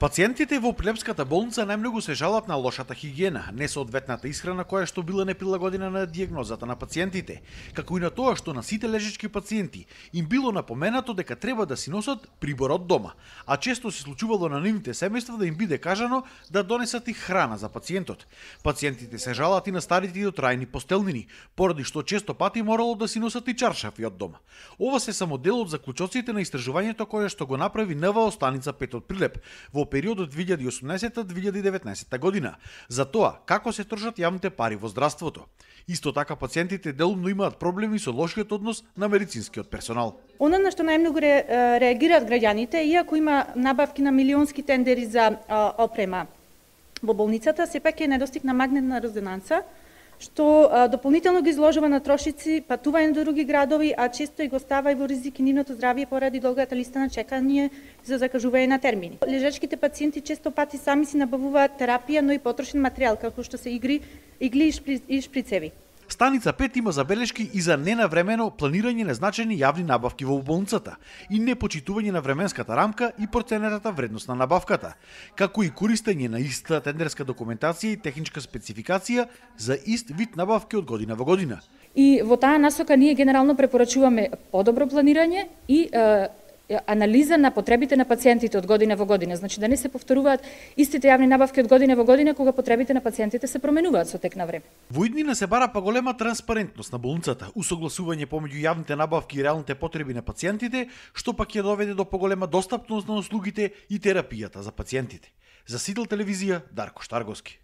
Пациентите во Прилепската болница најмногу се жалат на лошата хигиена, несоодветната исхрана која што била неприлагодена на дијагнозата на пациентите, како и на тоа што на сите лежечки пациенти им било напоменато дека треба да си носат прибор од дома, а често се случувало на нивните семејства да им биде кажано да донесат и храна за пациентот. Пациентите се жалат и на старите и дотрајни постелнини, поради што често пати морало да си носат и чаршафи од дома. Ова се само дел од заклучоците на истражувањето кое што го направи НВО станица 5 од Прилеп во периодот 2018-2019 година, за тоа како се трошат јавните пари во здравството. Исто така пациентите делумно имаат проблеми со лошиот однос на медицинскиот персонал. Она на што најмногу реагираат граѓаните, иако има набавки на милионски тендери за опрема во болницата, сепак е недостиг на магнетна резонанца, што дополнително ги изложува на трошици, патување до други градови, а често и го става и во ризик и нивното здравје поради долгата листа на чекање за закажување на термини. Лежачките пациенти често пати сами си набавуваат терапија, но и потрошен материјал, како што се игли и шприцеви. Станица 5 има забелешки и за ненавремено планирање на значајни јавни набавки во болницата и непочитување на временската рамка и проценетата вредност на набавката, како и користење на иста тендерска документација и техничка спецификација за ист вид набавки од година во година. И во таа насока ние генерално препорачуваме подобро планирање и анализа на потребите на пациентите од година во година, значи да не се повторуваат истите јавни набавки од година во година кога потребите на пациентите се променуваат со тек на време. Во иднина се бара поголема транспарентност на болницата, усогласување помеѓу јавните набавки и реалните потреби на пациентите, што пак ја доведе до поголема достапност на услугите и терапијата за пациентите. За Сидел телевизија, Дарко Штарговски.